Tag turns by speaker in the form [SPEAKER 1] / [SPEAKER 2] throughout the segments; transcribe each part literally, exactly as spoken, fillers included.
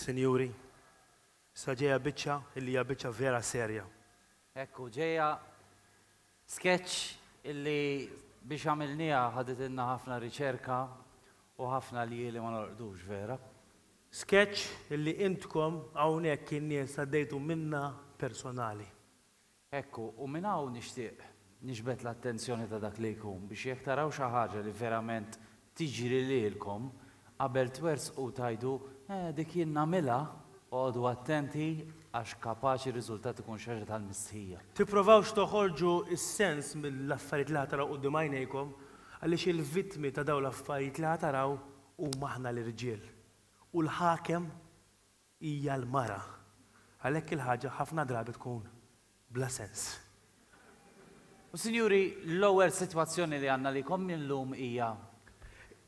[SPEAKER 1] Sinjuri, sa ġejja biċċa illi hija biċċa vera serja.
[SPEAKER 2] Ekku, ġejja sketch illi biex għamilniha ħaditilna ħafna riċerka u ħafna ljieli ma norqdux vera.
[SPEAKER 1] Sketch illi intkom hawnhekk in-nies għaddejtu minna personali.
[SPEAKER 2] Ekku, u minn hawn nixtieq niġbed l-attenzjoni ta' dak li jkun biex jekk taraw xi ħaġa li verament tiġri lilkom qabel twersqu tgħidu eh dik jien nagħmilha, oqogħdu attenti għax kapaċi r-riżultat ikun xi ħaġa tal-mistħija.
[SPEAKER 1] Tipprovawx toħorġu s-sens mill-affarijiet li ħa taraw quddiem għajnejkom għaliex il-vittmi ta' dawn l-affarijiet li ħa taraw huma aħna l-irġiel u l-ħakem hija l-mara. Għalhekk il-ħaġa ħafna drabi tkun bla sens.
[SPEAKER 2] U sinjuri, l-ewwel sitwazzjoni li għandna likom illum hija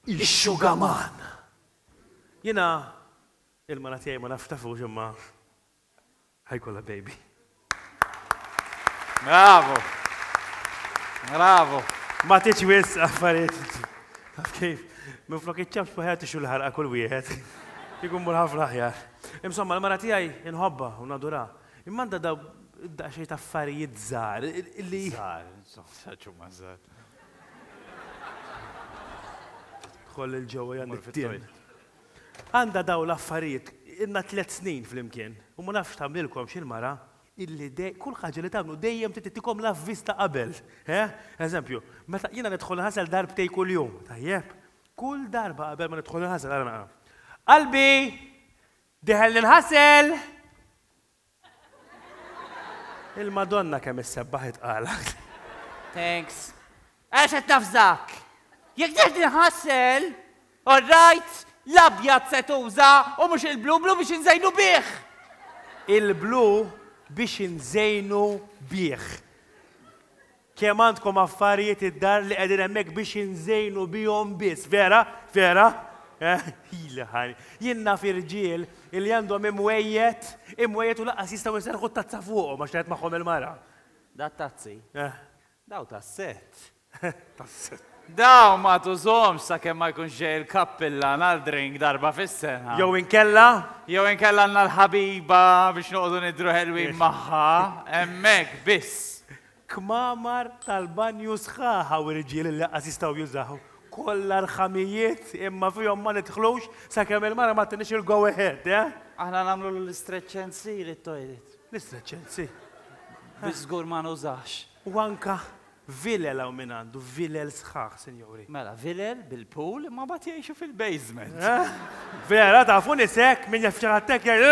[SPEAKER 1] Ix-xugaman! Jiena il-mara tiegħi ma nafx tafux imma ħajkollha baby.
[SPEAKER 2] Bravo! Bravo!
[SPEAKER 1] Ma titx wisq affarijiet. Taf kif? Minflok iċ-ċapċpu ħajja tixu l-ħarqa kull wieħed. Ikun mur ħafna aħjar. Insomma, l-mara tiegħi inħobbha u nadurha. Imma għandha daw daqsxejn ta' affarijiet żgħar illi.
[SPEAKER 2] Żgħar, insomma, saċu ma żgħar.
[SPEAKER 1] Dħol il ġewwa jan it-tien. Għandha daw l-affarijiet, ilna tliet snin flimkien, u ma nafx tagħmlilkom x'il-mara illi kull ħaġa li tagħmlu dejjem trid tittikom l-avviż ta' qabel. Eh? Eżempju, meta jiena nidħol inħasel darbtej kuljum, tajjeb? Kull darba qabel ma nidħol inħasel ara naqra. Qalbi! Diħel ninħasel! Il-Madonna kemm issebbaħ itqala.
[SPEAKER 2] Thanks. Għax qed nafżak. Jekk diħel tinħasel, all right, l-abjad se tuża u mhux il-blu, blu biex inżejnu bih.
[SPEAKER 1] Il-blu biex inżejnu bih. Kemm għandkom affarijiet id-dar li qegħdin hemmhekk biex inżejnu bihom biss, vera? Vera? Ila ħani. Jien naf irġiel li għandhom imwejjed, imwejjed u lanqas jistgħu jserrħu t-tazza fuqhom għax qed magħhom il-mara.
[SPEAKER 2] Da tazzi?
[SPEAKER 1] Eh.
[SPEAKER 2] Daw tas-sett.
[SPEAKER 1] Tas-sett.
[SPEAKER 2] Daw ma tużhomx sakemm ma jkunx ġej il-kappillan għal drink darba fis-sena.
[SPEAKER 1] Jew inkella?
[SPEAKER 2] Jew inkella għandna l-ħabiba biex noqogħdu nidhru ħelwin magħha, hemmhekk biss.
[SPEAKER 1] Kmamar tal-banju sħaħ hawn irġiel li lanqas jistgħu jużaw. Kollha rħamijiet imma fihom ma nidħlux sakemm il-mara ma ttinix il-go ahead, eh?
[SPEAKER 2] Aħna nagħmlu l-istretch and seal it-toilet.
[SPEAKER 1] L-istretch and seal.
[SPEAKER 2] Biex żgur ma nużax.
[SPEAKER 1] U anka vilel hawn min għandu, vilel sħaħ, sinjuri.
[SPEAKER 2] Mela, vilel bil-pool imma mbagħad jgħixu fil-basement.
[SPEAKER 1] Eh? Vera, tafu nies hekk, min jaf xi ħadd hekk jgħid,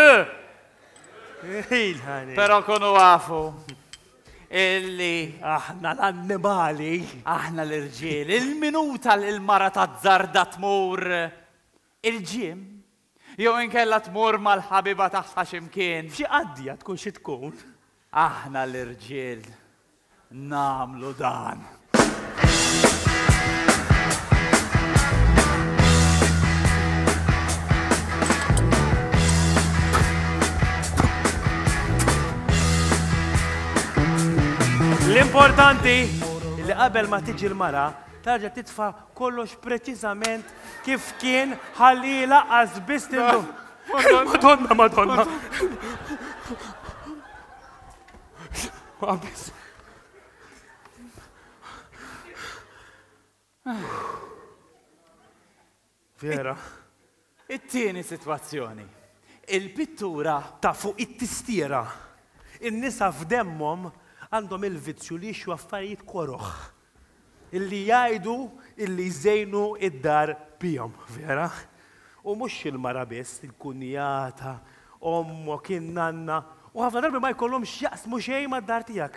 [SPEAKER 1] eh! Il-ħani.
[SPEAKER 2] Però kunu għafu illi
[SPEAKER 1] aħna l-annimali,
[SPEAKER 2] aħna l-irġiel, il-minuta li l-mara tazzarda tmur il-ġim, jew inkella tmur mal-ħabiba tagħha x'imkien.
[SPEAKER 1] F'xi qaddija tkun xi tkun.
[SPEAKER 2] Aħna l-irġiel nagħmlu dan.
[SPEAKER 1] L-importanti li qabel ma tiġi l-mara, tarġa' titfa' kollox preċiżament kif kien ħalli laqqas biss tindu. Madonna, Madonna. Biss. Vera.
[SPEAKER 2] It-tieni sitwazzjoni. Il-pittura
[SPEAKER 1] ta' fuq it-tistiera. In-nisa f'demmhom għandhom il-vizzju li jixtru affarijiet koroh. Illi jgħidu illi jżejnu id-dar bihom, vera? U mhux il-mara biss, il-kunjata, ommok, in-nanna, u ħafna drabi ma jkollhomx x'jaqsmu xejn mad-dar tiegħek.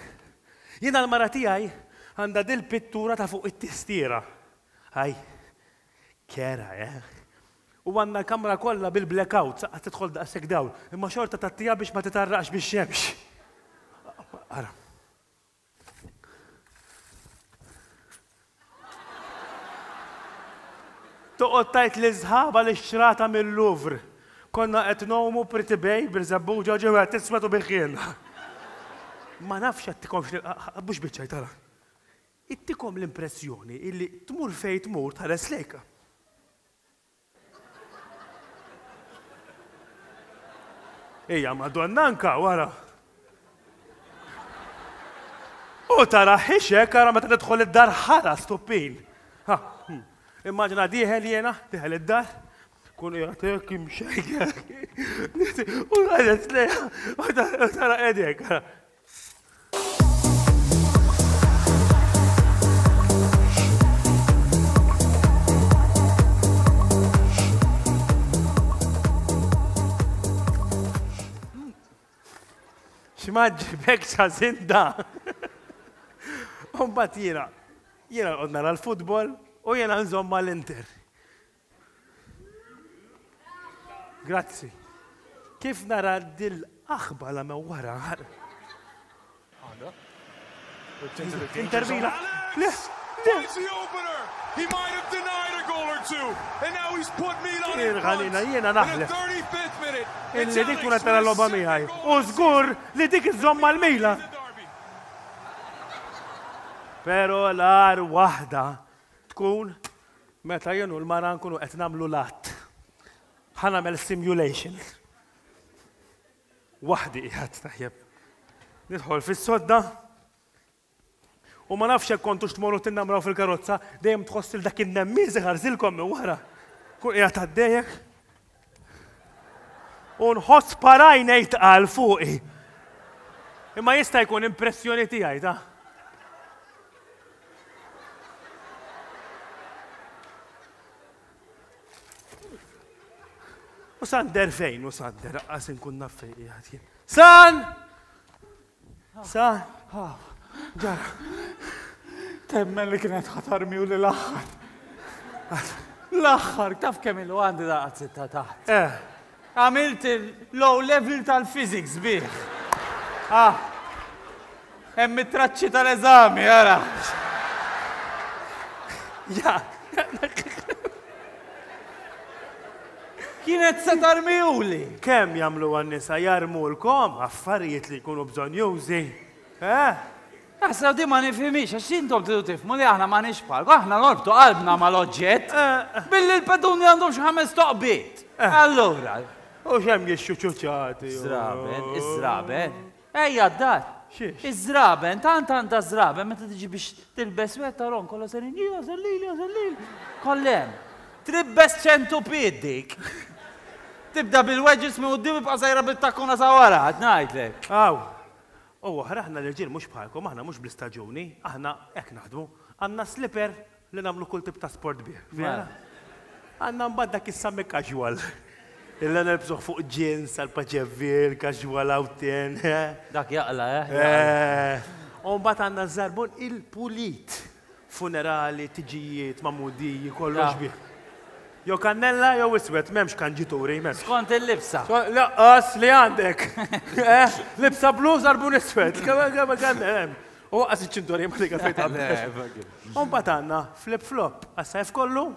[SPEAKER 1] Jiena l-mara tiegħi għandha dil-pittura ta' fuq it-tistiera. Aj, kera, eh? U għandna l-kamra kollha bil-blackout, saqqa tidħol daqshekk dawl, imma xorta tgħattiha biex ma titarraqx bix-xemx. Ara. Toqgħod tgħid li sħaba li xrata mill-Louvre. Konna qed ngħumu Pretty Bay bir-żebbuġa ġew qed tiswed u biħħielna. Ma nafx għattikomx mhux biċċaj tara. Ittikom l-impressjoni illi tmur fejn tmur tħares lejka. Ija, madonna anka, wara. U tara ħixek, ara meta tidħol id-dar ħara stuppin. Ha, hmm. Immaġina dieħel jiena, dieħel id-dar, kun jgħatek imxejkek. U għadet lejha, u tara qegħdek. Ara. X'ma ġibek ċażinda. U mbagħad jiena, jiena noqgħod nara l-futbol u jiena nżomm mal-Inter. Grazzi. Kif nara dil-aħba la me wara?
[SPEAKER 3] Honda. Whipped into the danger
[SPEAKER 1] Inter
[SPEAKER 3] zone.
[SPEAKER 1] Milan. Le,
[SPEAKER 3] Alex
[SPEAKER 1] le.
[SPEAKER 3] finds the opener. He might have denied a goal or two, and now he's put Milan in
[SPEAKER 1] Irħalina,
[SPEAKER 3] front.
[SPEAKER 1] jiena
[SPEAKER 3] In the
[SPEAKER 1] naħlef.
[SPEAKER 3] thirty-fifth minute, it's
[SPEAKER 1] Illi dik
[SPEAKER 3] Alex
[SPEAKER 1] tkun qed tara
[SPEAKER 3] with his
[SPEAKER 1] logħba
[SPEAKER 3] second
[SPEAKER 1] miegħi.
[SPEAKER 3] goal
[SPEAKER 1] U
[SPEAKER 3] of the
[SPEAKER 1] żgur li dik iżżomm mal-Milan.
[SPEAKER 3] season derby.
[SPEAKER 1] Pero l-ar waħda tkun meta jien u l-mara nkunu qed nagħmlu l-att. Ħa nagħmel simulation. Waħdi qiegħed taħjeb. Nidħol fis-sodda u ma nafx hekk kontux tmorru tinnamraw fil-karozza, dejjem tħoss il dak in-nemmiż iħarżilkom minn wara. Kun qiegħed għaddejjek. U nħoss parajnej tqal fuqi. Imma jista' jkun impressjoni tiegħi ta'. U Sander fejn, u Sander, għas inkun naf fejn qiegħed jien. San! San! Ġara.
[SPEAKER 2] Temmen li kienet ħatarmi u li l-aħħar. L-aħħar, taf kemm ilu għandi daqqa sitta taħt.
[SPEAKER 1] Eh,
[SPEAKER 2] Għamilt il-low level tal-physics bih. Ah, hemm it-traċċi tal-eżami, ara.
[SPEAKER 1] ja.
[SPEAKER 2] Kienet se tarmiuli.
[SPEAKER 1] Kemm jagħmlu għan-nisa jarmulkom affarijiet li jkunu bżonjużi. Eh?
[SPEAKER 2] Aħseb di ma nifhimix, għax intom tridu tifhmu li aħna ma bħalkom, aħna norbtu qalbna mal-oġġett
[SPEAKER 1] Eh,
[SPEAKER 2] billi l-peduni għandhom xi ħames toqbiet. Allura,
[SPEAKER 1] U xem jixxu ċuċati.
[SPEAKER 2] Żraben, iż-żraben. Ejja d-dar.
[SPEAKER 1] Xiex?
[SPEAKER 2] Iż-żraben, tant għandha żraben, meta tiġi biex tilbes wieħed tarom kollha serin, ija sellili, ja sellili. Kollem. Tribbes ċentupid dik. Tibda bil-wedges minn quddiem ibqa' sejra bit-takkuna sa wara, qed ngħidlek.
[SPEAKER 1] Aw. U oħra aħna l-irġiel mhux bħalkom, aħna mhux bl-istaġuni, aħna hekk naħdmu. Għandna slipper li nagħmlu kull tip ta' sport bih. Vera? Għandna mbagħad dak is-sami casual. Illa nilbsuh fuq jeans, għal paċevil, casual outin.
[SPEAKER 2] Dak jaqla, eh?
[SPEAKER 1] Eh. U mbagħad għandna żarbun il-pulit. Funerali, tiġijiet, mamudiji, kollox
[SPEAKER 2] Ja.
[SPEAKER 1] bih. Jew kannella jew iswed, m'hemmx kanġituri, m'hemmx.
[SPEAKER 2] Skont il-libsa.
[SPEAKER 1] So, Laqqas li għandek. Eh, Libsa blu, żarbun iswed. Kemm kemm kemm hemm. U għas iċ-ċinturi ma dik fejn taqbel. U mbagħad għandna flip-flop għas-sajf kollu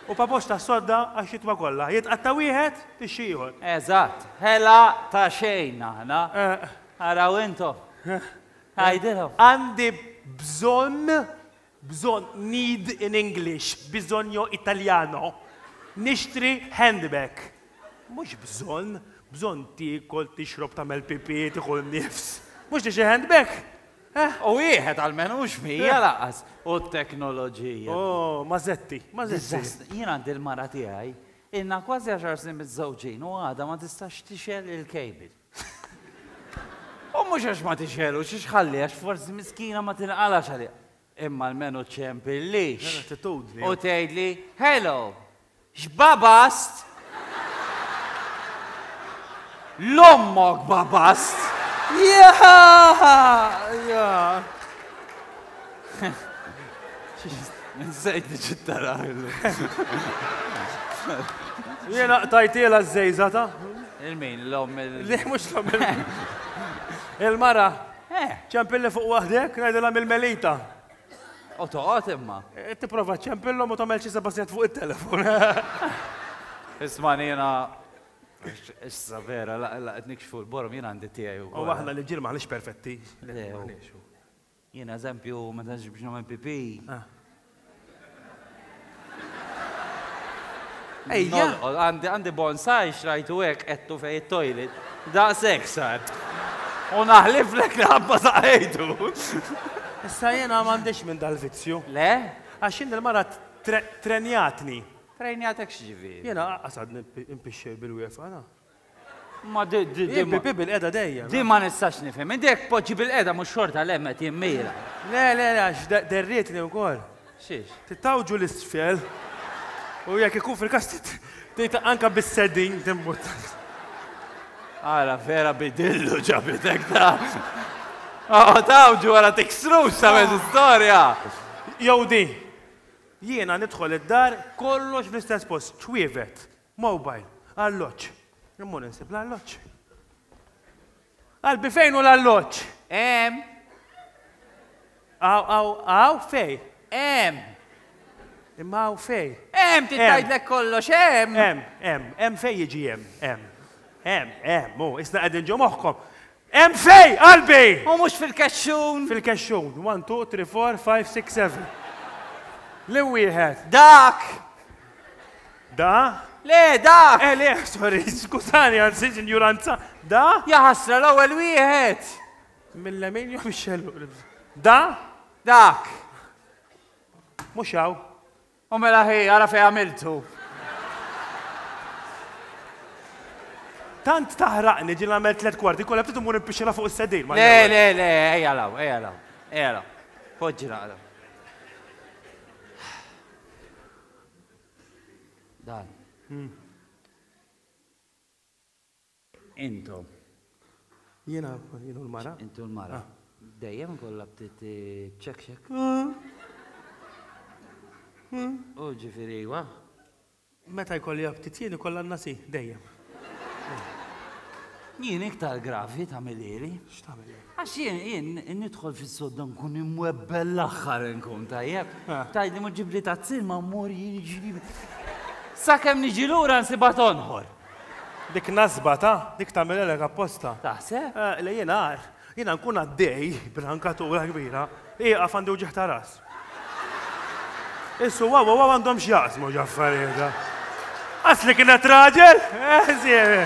[SPEAKER 1] u papox ta' sodda għax-xitwa kollha. Jitqatta wieħed tixxi ieħor.
[SPEAKER 2] Eżatt, ħela ta' xejn aħna.
[SPEAKER 1] Eh,
[SPEAKER 2] Araw intom. Għajdilhom.
[SPEAKER 1] Għandi bżonn, bżonn, need in English, bisogno italiano. Nixtri handbag. Mhux bżonn, bżonn tiekol, tixrob, tagħmel pipi, tieħu nifs. Mhux tixtri handbag. Eh?
[SPEAKER 2] U wieħed għalmenu mhux mija laqas. U t-teknoloġija.
[SPEAKER 1] Oh, mażetti, mażetti.
[SPEAKER 2] Diżastru. Jien għandi l-mara tiegħi, ilna kważi għaxar snin miżżewġin u għadha ma tistax tixel il-kejbil. U mhux għax ma tixelu, xiex ħalli, għax forsi miskina ma tinqalax għalija. Imma l-menu ċempillix.
[SPEAKER 1] Attitudni.
[SPEAKER 2] U tgħidli, hello, x'babast? L-ommok babast!
[SPEAKER 1] Ja! Ja!
[SPEAKER 2] Nsejt li ġittara.
[SPEAKER 1] Jiena qtajtiela ż-żejża ta'
[SPEAKER 2] Il-min, l-om il-
[SPEAKER 1] Li mhux l-om il-mara.
[SPEAKER 2] Eh,
[SPEAKER 1] ċempilli fuq waħdek, ngħidilha mill-melita.
[SPEAKER 2] u toqgħod imma.
[SPEAKER 1] E, Tipprova ċempillhom u tagħmel xi seba' sigħat fuq it-telefon.
[SPEAKER 2] Isma' jiena issa vera, laqgħet nikxfu l-borom jiena għandi tiegħi
[SPEAKER 1] U
[SPEAKER 2] wkoll.
[SPEAKER 1] aħna li ġir maħniex perfetti.
[SPEAKER 2] Le, u.
[SPEAKER 1] Maħniex.
[SPEAKER 2] Jiena eżempju meta niġi biex nagħmel pipi.
[SPEAKER 1] Ah. Ejja.
[SPEAKER 2] Għandi għandi bonsai xrajtu hekk qedtu fej it-toilet. Daqshekk sar. U naħliflek li ħabba saqajtu.
[SPEAKER 1] Issa jiena m'għandix minn dal-vizzju.
[SPEAKER 2] Le?
[SPEAKER 1] Għax jien il-mara trenjatni.
[SPEAKER 2] Trenjatek x'ġifieri?
[SPEAKER 1] Jiena qasad impixxej bil-wieqfa, na.
[SPEAKER 2] Ma di di di.
[SPEAKER 1] Pipi bil-qeda dejjem.
[SPEAKER 2] Di ma nistax nifhem. Inti jekk poġġi bil-qeda mhux xorta l-hemm qed jimmira.
[SPEAKER 1] Le, le, le, għax derrietni wkoll.
[SPEAKER 2] Xiex?
[SPEAKER 1] Titawġu l-isfel. U jekk ikun fil-każ tgħid anke bis-seddin timbut.
[SPEAKER 2] Ara vera bidillu ġabitek ta'. Oh, tawġu wara tiksrux ta' mezz istorja.
[SPEAKER 1] Jew di. Jiena nidħol id-dar kollox fl-istess post, ċwievet, mobile, alloġġ. Immur insib l-alloġġ. Qalbi fejn hu l-alloġġ?
[SPEAKER 2] Hemm.
[SPEAKER 1] Aw, aw, aw fej.
[SPEAKER 2] Hemm.
[SPEAKER 1] Imma hawn fej.
[SPEAKER 2] Hemm titgħidlek kollox hemm.
[SPEAKER 1] Hemm, hemm, hemm fej jiġi hemm, hemm. Hemm, hemm, hu, isna qegħdin ġo moħħkom. Hemm fej, qalbi!
[SPEAKER 2] U mhux fil-kexxun.
[SPEAKER 1] Fil-kexxun. One, two, three, four, five, six, seven. Li wieħed.
[SPEAKER 2] Dak!
[SPEAKER 1] Da?
[SPEAKER 2] Le, dak!
[SPEAKER 1] Eh, le, sorry, skużani, għansi, ignoranza. Da?
[SPEAKER 2] Ja ħasra l-ewwel wieħed.
[SPEAKER 1] Mill-lemin jew mix-xellu. Da?
[SPEAKER 2] Dak.
[SPEAKER 1] Mhux hawn.
[SPEAKER 2] U mela ħi, ara fej għamiltu.
[SPEAKER 1] Tant taħraqni ġil għamel tliet kwarti, kollha btiet imur impixxila fuq is-sedil.
[SPEAKER 2] Le, le, le, ejja law, ejja law, ejja law. Poġġi naqra. Dan. Intom.
[SPEAKER 1] Jiena, jiena l-mara.
[SPEAKER 2] Intu l-mara. Dejjem kollha btiet ċek ċek. U ġifieri wa.
[SPEAKER 1] Meta jkolli aptit jien ikollha n-nasi, dejjem.
[SPEAKER 2] Jien iktar gravi tagħmilili.
[SPEAKER 1] X'tagħmel?
[SPEAKER 2] Għax jien jien nidħol fis-sodda nkun imwebbel l-aħħar nkun tajjeb. Tgħidli mhux ġibli tazzil ma mmur jiġri. Sakemm niġi lura nsibha tonħor.
[SPEAKER 1] Dik nasba ta' dik tagħmilek apposta.
[SPEAKER 2] Taħseb?
[SPEAKER 1] Le jien għar, jiena nkun għaddej b'rankatura kbira, ieqaf għandi uġigħ ta' ras. Issu waw waw għandhom x'jaqsmu ġaffarijiet. Asli kienet raġel? Eh, siemi.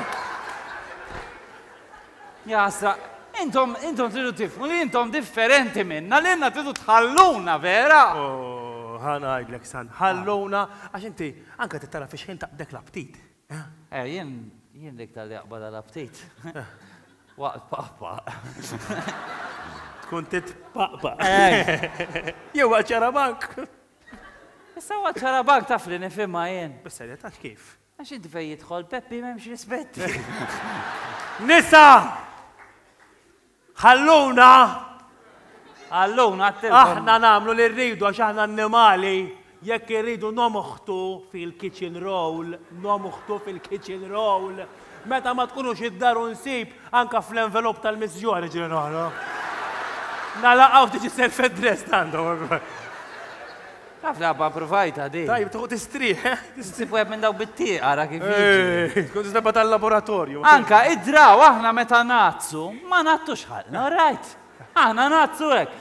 [SPEAKER 2] Jasra, intom, intom tridu tifhmu li intom differenti minna, li inna tridu tħalluna, vera?
[SPEAKER 1] Oh, ħa ngħidlek san, ħalluna, għax inti anke tittara fi xħin taqbdek l-aptit.
[SPEAKER 2] Eh, jien, jien dik tal-li jaqbad l-aptit. Waqt paqpa.
[SPEAKER 1] Tkun titpaqpa. Jew waqt ċarabank.
[SPEAKER 2] Issa waqt ċarabank taf li nifhimha jien.
[SPEAKER 1] Bis-serjetà kif?
[SPEAKER 2] Għax inti fejn jidħol Peppi m'hemmx rispetti.
[SPEAKER 1] Nisa! Ħalluna!
[SPEAKER 2] Ħalluna għattilkom.
[SPEAKER 1] Aħna nagħmlu li rridu għax aħna annimali. Jekk irridu nomoħtu fil-kitchen roll, nomoħtu fil-kitchen roll. Meta ma tkunux id-dar u nsib anka fl-envelop tal-missjoni ġiri noħro. Nalaqgħu tiġi self-addressed għandhom.
[SPEAKER 2] Taf li għabba provajta di.
[SPEAKER 1] Tajb, tuħu tistrieħ, eh?
[SPEAKER 2] Nsib wieħed minn daw bit-tieq, ara kif jiġi.
[SPEAKER 1] Tkun tisnebba tal-laboratorju.
[SPEAKER 2] Anka, idraw, aħna meta nazzu, ma nattux ħalna, all right? Aħna nazzu hekk.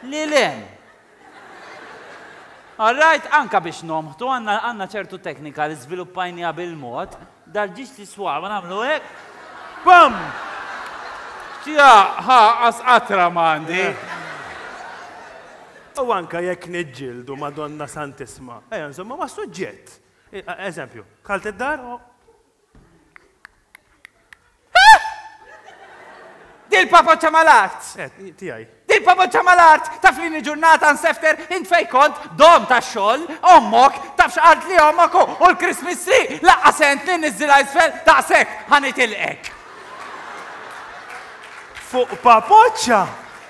[SPEAKER 2] Lilem. All right, anka biex nomħtu, għanna għanna ċertu teknika li żviluppajnija bil-mod, dal-ġiġ li swaba nagħmlu hekk.
[SPEAKER 1] Bam!
[SPEAKER 2] Ċija, ħa, qas qatra m'għandi.
[SPEAKER 1] U anka jekk niġġieldu Madonna Santisma. Ejja, insomma, ma' suġġett. Eżempju, dħalt id-dar u.
[SPEAKER 2] Dil papoċċa mal-art!
[SPEAKER 1] Eh, tiegħi.
[SPEAKER 2] Dil papoċċa mal-art! Taf li ġurnata nsefter, int fej kont, dom ta' xogħol, ommok, taf x'qalt li ommok u l-Christmas tree, laqqa sent li niżżilha isfel, daqshekk ħanitilqek.
[SPEAKER 1] Fuq papoċċa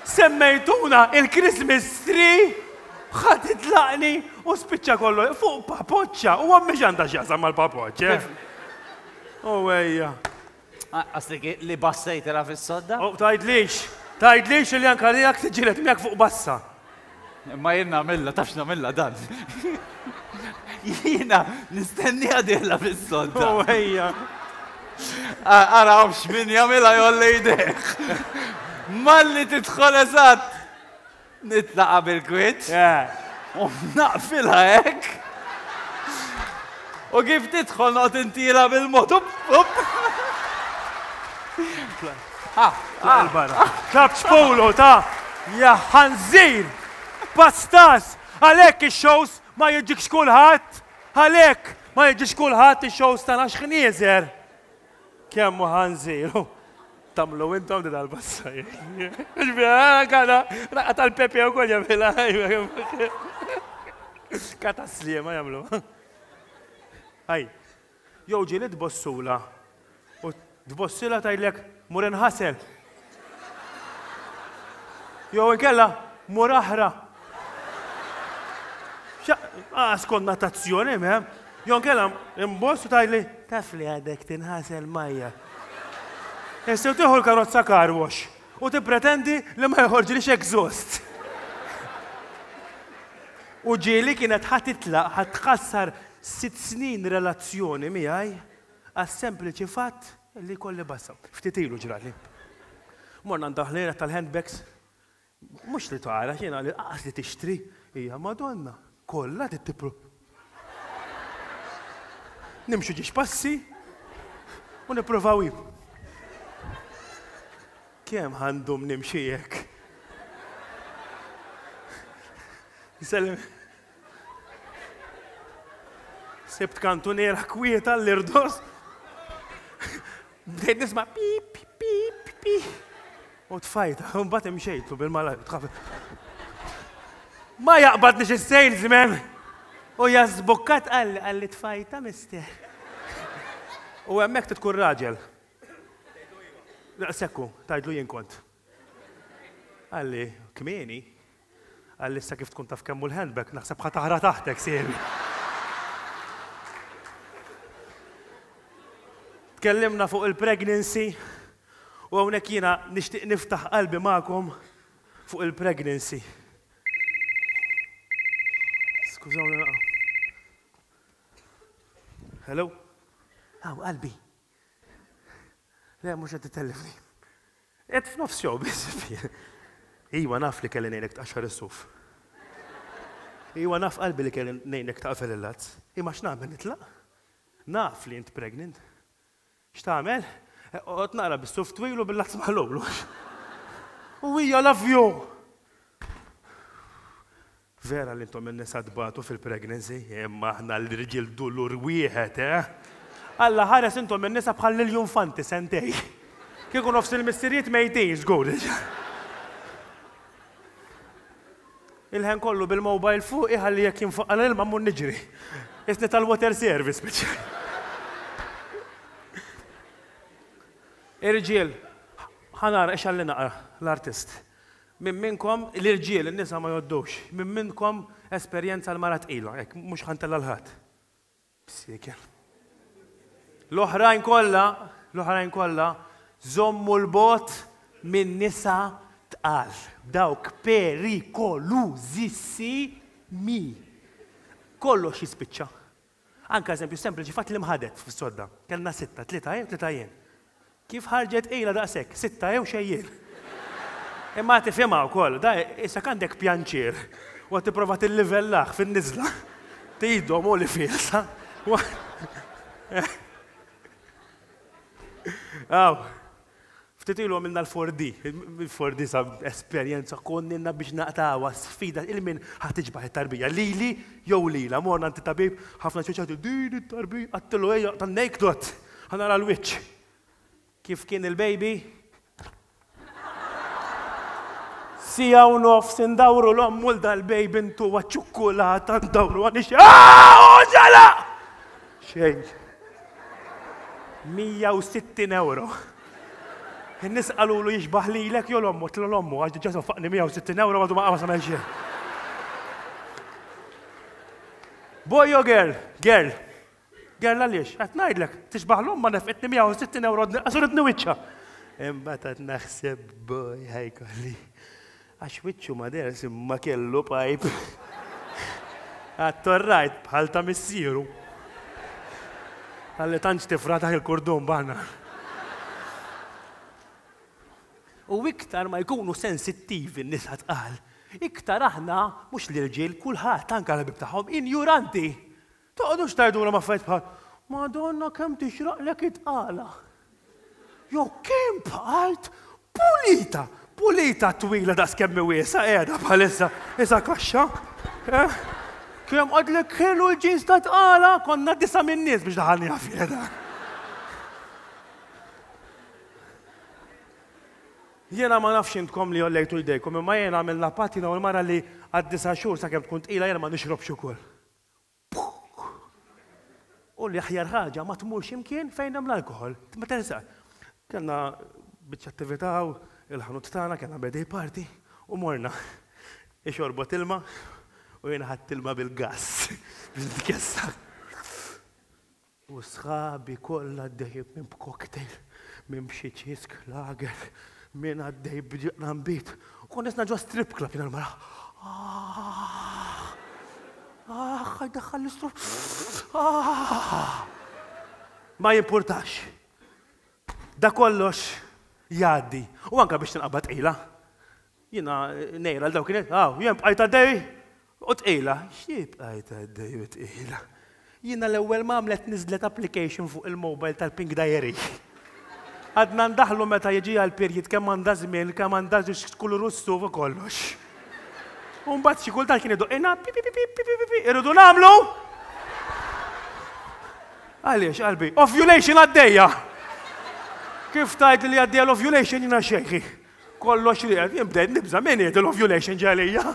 [SPEAKER 1] semmejtuna il-Christmas tree, ħa titlaqni u spiċċa kollu fuq papoċċa u għammi għandha x'jaqsam mal-papoċċa. U ejja.
[SPEAKER 2] Asli li bassejtela fis-sodda?
[SPEAKER 1] U tgħidlix, tgħidlix li anka li jak tiġilet miegħek fuq bassa.
[SPEAKER 2] Imma jien nagħmilha, tafx nagħmilha dan. Jiena nistenniha dieħla fis-sodda.
[SPEAKER 1] U ejja.
[SPEAKER 2] Ara x'min jagħmilha jolli jdejh. Malli tidħol eżatt. Nitlaqa bil-kwiet. U naqfilha hekk. U kif tidħol noqgħod intira bil-mod. Up, up.
[SPEAKER 1] Il-barra. Tlabx polo ta' ja ħanżir! Pastas! Għalhekk ix-shows ma jiġikx kulħadd! Għalhekk ma jiġix kulħadd ix-shows tagħna x'ħnieżer! Kemm hu ħanżir! Tamlu intom di dal-bassa. Għana, raqqa tal-pepe u kol jamila. Kata slima jamlu. Aj, jow ġieli tbossula. U tbossila tajlek mur inħasel. Jew inkella mur aħra. Għas konnotazzjoni, mem. Jew inkella imboss u tajli taf li għadek tinħasel majja. Issa tieħu l-karozza car wash u tippretendi li ma joħorġlix exhaust. U ġieli kienet ħa titlaq, ħa tħassar sitt snin relazzjoni miegħi għas-sempliċi fatt li kolli bassa. Ftit ilu ġrali. Morna ndaħlera tal-handbags, mhux li tara jiena li qas li tixtri, hija Madonna, kollha tittipru. Nimxu ġiex passi u nippruvaw jib. Kemm għandhom nimxi hekk? Sellem. Sibt kantuniera kwieta l-irdos. Bdejt nisma' pip, pip, pip. U tfajta, u mbagħad imxejtlu bil-malajr. Ma jaqbadniex is-salesman. U jażbukkat qalli qalli tfajta mister. U hemmhekk tkun raġel. Sekku, tajdlu jien kont. Qalli, kmieni. Qalli issa kif tkun taf kemmu l-handbag, naħseb ħa taħra taħtek siebi. Tkellimna fuq il-pregnancy u hawnhekk jiena nixtieq niftaħ qalbi magħkom fuq il-pregnancy. Skużawni naqa. Hello? Aw, qalbi. Le, mhux qed titellifni. Qed f'nofs show biss. Iwa naf li kelli ngħidlek tqaxxar is-suf. Iwa naf qalbi li kelli ngħidlek taqfel il-lazz. Imma x'nagħmel nitlaq? Naf li int pregnant. X'tagħmel? Oqgħod naqra bis-suf twil u bil-lazz maħlul. U hija love you. Vera li intom in-nisa tbatu fil-pregnancy, imma aħna l-irġiel dulur wieħed, eh? Alla ħares intom in-nisa bħal l-infanti sentej. Kieku nofs il-missirijiet mejtin, żgur. Il-ħen kollu bil-mobile fuq iħalli jekk jinfaqqa l-ilma mmur niġri. Isni tal-water service speċjali. Irġiel, ħanara ix għalli naqra l-artist. Min minnkom, l-irġiel, in-nisa ma joddux, min minnkom esperjenza l-mara tqila, hekk mhux ħantella l-ħadd. Bsieken. L-oħrajn kollha, l-oħrajn kollha, żommu l-bot minn nisa tqal. Dawk perikolużissimi. Kollox jispiċċa. Anka eżempju sempliċi fatt li mħadet fis-sodda. Kellna sitta, tlieta jien, tlieta jien. Kif ħarġet ejla daqshekk, sitta jew xejjien. Imma tifhimha wkoll, da issa għandek pjanċier u qed tipprova tillivellah fin-niżla. Tidhom u li fiesa. Aw, ftit ilu għamilna l-four D. Il-four D sa esperjenza konninna biex naqtawa sfida il-min ħa tiġbaħ it-tarbija. Lili jew lila, morna għand it-tabib, ħafna ċuċati, din it-tarbija, għattilu ejja tan-naked, ħa nara l-wiċċ. Kif kien il-baby? Sija u nofs indawru l-ommu l-dal-baby intu għaċ-ċukkulata ndawru għanix. Aaaa, ġala! Xejn. mija u sittin euro. In-nies qalulu jixbaħ lilek jew l-ommu, tlu l-ommu, għax diġà sofaqni mija u sittin euro għadu ma qama xejn. Boy jew girl? Girl. Girl għaliex? Qed ngħidlek, tixbaħ l-omma nefqitni mija u sittin euro għax ridni wiċċha. Imbagħad qed naħseb boy ħajkolli. Għax wiċċu ma ders imma kellu pajp. Għattorrajt bħal ta' missieru. Għalli tantx tifra taħ il-kordun baħna. U iktar ma jkunu sensittivi n-nisa tqal, iktar aħna, mhux l-irġiel, kulħadd anke l-ħabib tagħhom, injuranti. Toqgħodux tgħidulhom affarijiet bħal, Madonna kemm tixraqlek it-tqala. Jew kemm bqajt pulita, pulita twila daqs kemm wiesgħa qiegħda bħalissa, isa kaxxa. Eh? Kemm għadlek ħelu l-ġins ta' tqala, konna disa' min-nies biex daħalni fiha. Jiena ma nafx intkom li għollejtu jdejkom, imma jiena għamilna patina u l-mara li għad disa' xhur sakemm tkun tqila jiena ma nixrobx ukoll. U li aħjar ħaġa ma tmurx imkien fejn hemm l-alkoħol. Ma tersa. Kellna biċċa attività u il-ħanut tagħna kellna birthday party u morna. Ixorbot ilma u jiena ħadt ilma bil-gass biex nitkessa. U sħabi kollha għaddej minn b'cocktail, minn b'xi ċisk lager, minn għaddej b'ġambit. U konna nisna ġo strip club jiena l-mara. Ah, ħajdaħħal l-istru. Ah. Ma jimpurtax. Da kollox jgħaddi. U anka biex tinqabad tqila. Jiena nejra l dawk kienet, ah, jien bqajt għaddej u tqila. Xi bqajt għaddej u tqila? Jiena l-ewwel ma għamlet niżlet application fuq il-mobile tal-Pink Diary. Għadna ndaħlu meta jiġi għal-period kemm għandha żmien, kemm għandha kulur ussu u kollox. U mbagħad xi kultant kien idoqqina pi pi pi pi pi pi pi irridu nagħmlu. Għaliex qalbi, ovulation għaddejja. Kif tajt li għaddejja l-ovulation jiena xejħi. Kollox li għed, jien bdejt nibża' min jgħid l-ovulation ġalija.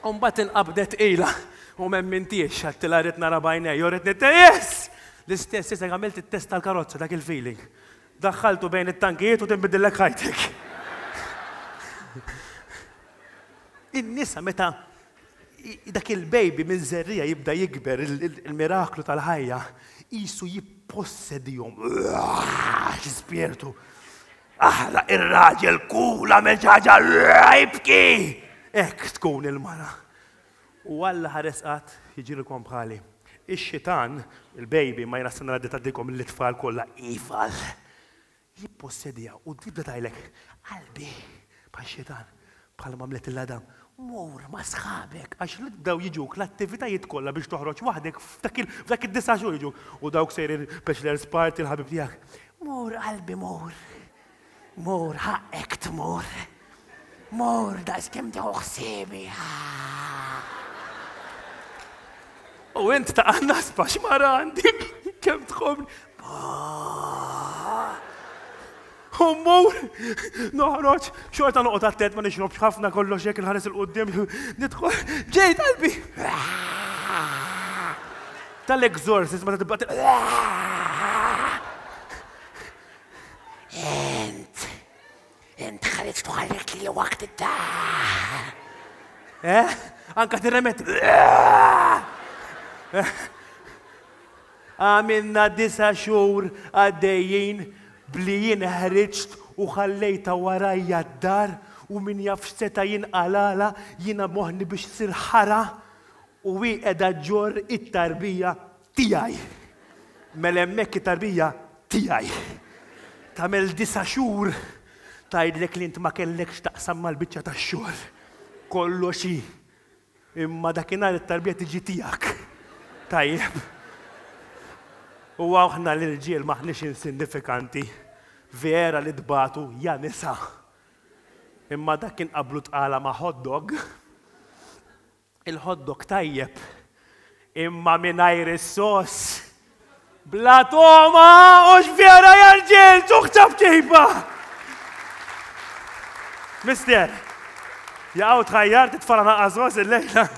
[SPEAKER 1] U mbagħad inqabdet qila u m'emmintiex għedtilha rrid nara b'għajnejja, u rrid nitte yes! L-istess issa għamilt it-test tal-karozza dak il-feeling. Daħħaltu bejn it-tankijiet u tinbidillek ħajtek. In-nisa meta dak il-baby minn żerrija jibda jikber il-miraklu tal-ħajja, qisu jippossedihom. Xi spirtu. Aħra ir-raġel kula minn xi ħaġa jibki. Hekk tkun il-mara. U Alla ħares qatt jiġrilkom bħali. Ix-xitan, il-baby, ma jiena s-sena għaddiet għaddikom l-itfal kollha ifal. Jippossedija u tibda tgħidlek, qalbi, bħal xitan, bħal ma għamlet il-Adam, mur ma sħabek, għax li bdew jiġuk l-attivitajiet kollha biex toħroġ waħdek f'dak id-disa' xhur jiġuk. U dawk sejrin bachelor's party l-ħabib tiegħek. Mur qalbi mur, mur ħaqek tmur, mur daqs kemm tieħu ħsiebi. U int ta' nasba x'mara għandi, kemm tħobbni. U mmur, noħroġ, xorta noqgħod attent ma nixrobx ħafna kollox hekk inħares il quddiem, nidħol, ġejt qalbi. Tal-exorcist meta tibqa'
[SPEAKER 4] Int, int ħriġt u ħallejt li waqt id-dar.
[SPEAKER 1] Eh? Anka tirremet. Għamilna disa' xhur għaddejjin bli jien ħriġt u ħallejta warajja d-dar u min jaf x'seta' jinqalala jiena moħni biex sir ħara u hi qiegħda ġorr it-tarbija tiegħi. Mela hemmhekk it-tarbija tiegħi. Tagħmel disa' xhur tgħidlek li int ma kellekx taqsam mal-biċċa tax-xogħol. Kollox hi. Imma dakinhar it-tarbija tiġi tiegħek. Tajjeb. U aħna l-irġiel maħniex insignifikanti. Vera li tbatu ja nisa. Imma dak kien qablu tqala ma' hot dog. Il-hot dog tajjeb. Imma mingħajr is-sos. Bla toma, u x'vera ja rġiel, tuħ ċabċiba! Mister, jaqgħu tħajjar titfala naqas sos il-lejla.